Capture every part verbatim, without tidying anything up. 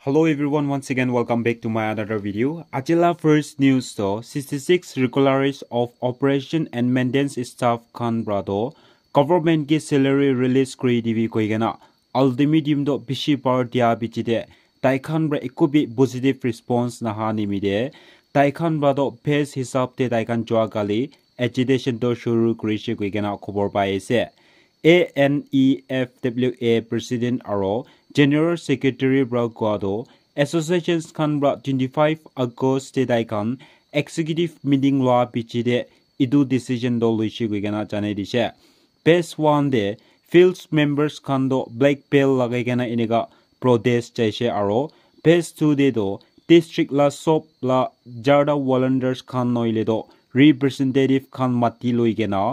Hello everyone, once again welcome back to my another video. Ajila first news to sixty-six regulars of operation and maintenance staff khan pra to government ke salary release kuri dibi koi kena ultimatum to bishi bar dia bichi de tai khan pra eku bi positive response naha nimide tai khan pra to base hisab te tai khan jua kali agitation to shuru kurishe koi kena khobor pai ase. A N E F W A President aro General Secretary pra koa toh associations khan pra twenty-five August te tai khan executive meeting loa piche te etu decision toh loishe koi kena janai dishe. Phase one te field members khan toh black belt lagai kena enika protest jaise aro phase two te toh district la sob la jarta volunteers khan nohoile toh representative khan mati loi kena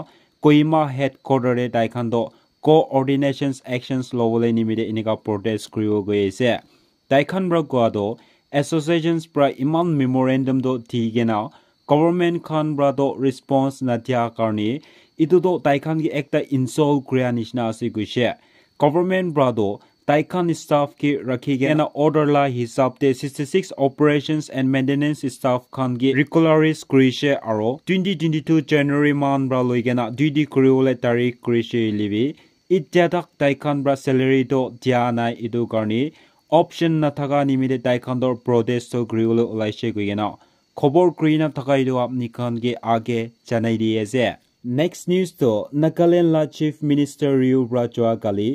Kohima headquarter te tai khan toh coordinations actions lobole nimite enika protest kuribo goi ase. Tai khan pra koa toh associations pra iman memorandum toh di kena government khan pra toh response nadia karne etu toh tai khan ke ekta insult kuria nishina ase koishe. Government pra toh tai khan staff ke rakhi kena order la hisab te sixty-six operations and maintenance staff khan ke regularize kurishe aro twenty twenty-two January month pra loi kena duty kuribole tarik kurishe hoile bi itya tak tai khan pra salary toh dia nai, etu karne option nathaka nimite tai khan toh protest toh kuribole olaishe koi kena khobor kurina thaka etu apni khan ke age janai di ase. Next news toh Nagaland la Chief Minister Ryu pra jua kali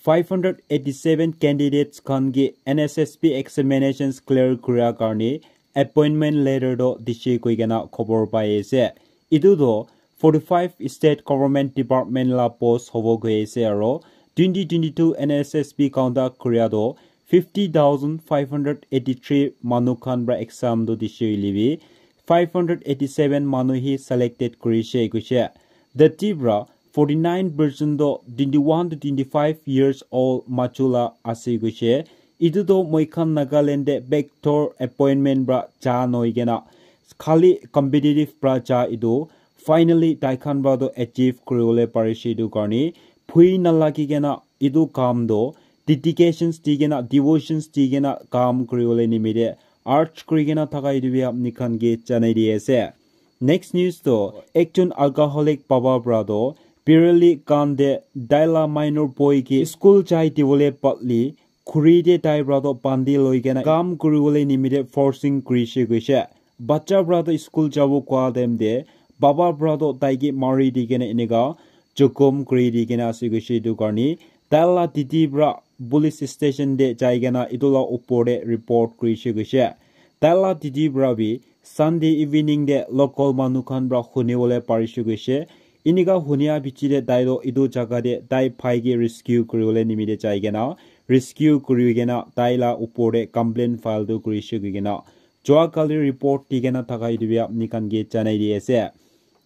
five hundred eighty-seven candidates khan ke N S S B examinations clear kuria karne appointment letter toh dishe koi kena khobor pai ase. Etu toh forty-five state government department la post hobo goi ase aro twenty twenty-two N S S B conduct kuria toh fifty thousand five hundred eighty-three manu khan pra exam toh dishe hoile bi five hundred eighty-seven manu hi selected kurishe koishe. Dati pra forty-nine percent toh twenty-one to twenty-five years old machu la ase koishe. Etu toh moi khan Nagaland te backdoor appointment pra ja noi kena khali competitive pra ja etu finally tai khan pra toh achieve kuribole parishe etu karne phui nalagi kena etu kam toh dedications di kena devotions di kena kam kuribole nimite urge kuri kena thaka etu bi apni khan ke janai di ase. Next news toh ekjon alcoholic baba pra toh Pirali Gand te tai la minor boy ke school jai dibole patli khuri te tai pra toh bandi loi kena kam kuribole nimite forcing kurishe koishe. Bacha pra toh school jabo koa time te baba pra toh tai ke mari di kena enika jokhom kuri di kena ase koishe etu karne tai la didi pra police station te jai kena etu la upor te report kurishe koishe. Tai la didi pra bi Sunday evening te local manu khan pra huni bole parishe koishe. Enika hunia piche te tai toh etu jaga te tai bhai ke rescue kuribole nimite jai kena rescue kuri kena tai la upor te complaint file toh kurishe koi kena jua kali report di kena thaka etu bi apni khan ke janai di ase.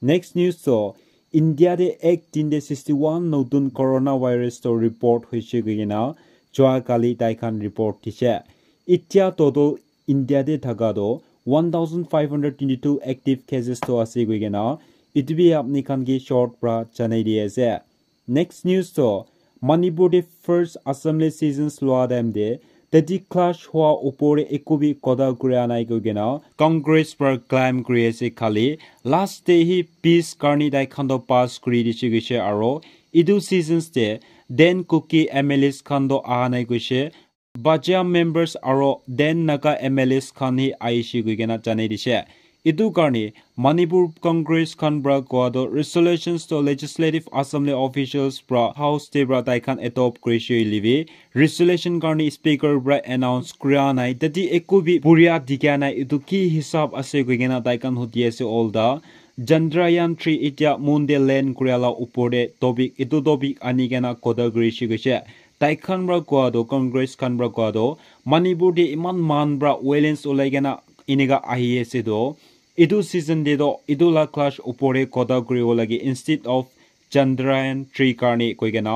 Next news toh India te ek din te sixty-one notun coronavirus toh report hoishe koi kena jua kali tai khan report dishe. Itya total India te thaka toh one thousand five hundred twenty-two active cases toh ase koi kena etu bi apni khan ke short pra janai di ase. Next news toh Manipur te first assembly sessions loa time te tati clash hua upor te eku bi kotha kuria nai koi kena Congress pra claim kuri ase khali last te hi peace karne tai khan toh pass kuri dishe koishe aro etu sessions te then Kuki M L As khan toh aha nai koishe. Bachia members aro then Naga M L As khan hi aishe koi kena janai dishe. Etu karne Manipur Congress khan pra koa toh resolutions toh Legislative Assembly officials pra House te pra tai khan adopt kurishe hoile bi resolution karne speaker pra announce kuria nai. Tati eku bi buria dikha nai. Etu ki hisab ase koi kena tai khan hudi ase olta. Chandrayaan three itya moon te land kuria la upor te topic, etu topic ani kena kotha kurishe koishe. Tai khan pra koa toh Congress khan pra koa toh Manipur te eman man pra violence ulai kena enika ahi ase toh etu season te toh etu la clash upor te kotha kuribo lage instead of Chandrayaan three karne koi kena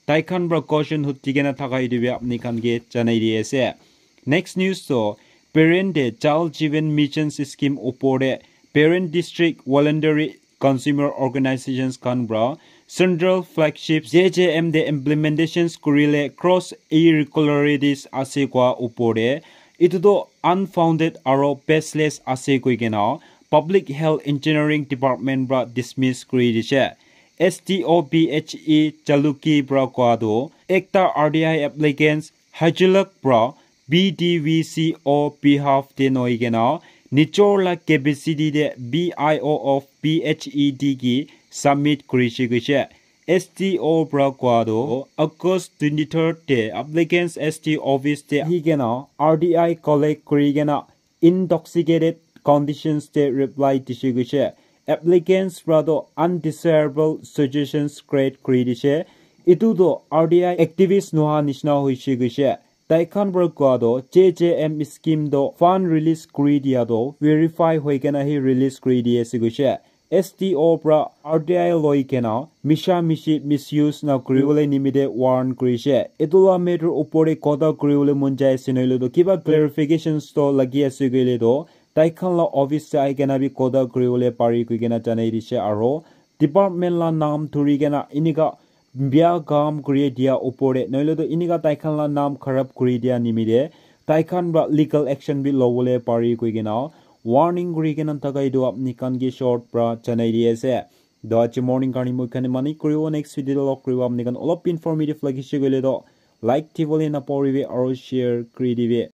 tai khan pra question hudi kena thaka etu bi apni khan ke janai di ase. Next news toh parent te Jal Jeevan Mission scheme upor te parent district voluntary consumer organizations khan pra central flagship J J M te implementations kurile cross irregularities ase koa upor te Etu toh unfounded aro baseless ase koi kena Public Health Engineering Department pra dismiss kuri dishe. S T O P H E Chaluki pra koa toh ekta R T I applicants Hajilak pra B D V C O behalf te noi kena nijor la capacity te B I O of P H E D ki submit kurishe kuishe. S T O pra koa toh August twenty-third te applicants S T office te ahi kena R T I collect kuri kena intoxicated conditions te reply dishe kuishe. Applicants pra toh undesirable suggestions create kuri dishe. Etu toh R T I activist noha nishina hoishe kuishe. Tai khan pra koa toh J J M scheme toh fund release kuri dia toh verify hoi kena hi release kuri di ase kuishe. S T O pra R T I loi kena misha mishi misuse na kuribole nimite warn kurishe. Etu la matter upor te kotha kuribole mon jai ase noile toh kiba clarifications toh lagi ase koile toh tai khan la office te ahi kena bi kotha kuribole pari koi kena janai dishe aro department la naam dhuri kena enika bia kam kuri dia upor te noile toh enika tai khan la naam kharab kuri dia nimite tai khan pra legal action bi lobole pari koi kena warning kuri kena thaka etu apni khan ke short pra janai di ase. Toh aji morning karne moi khan mani kuribo, next video te log kuribo. Apni khan olop informative lagise koile toh like dibole napahoribi aro share kuri dibi.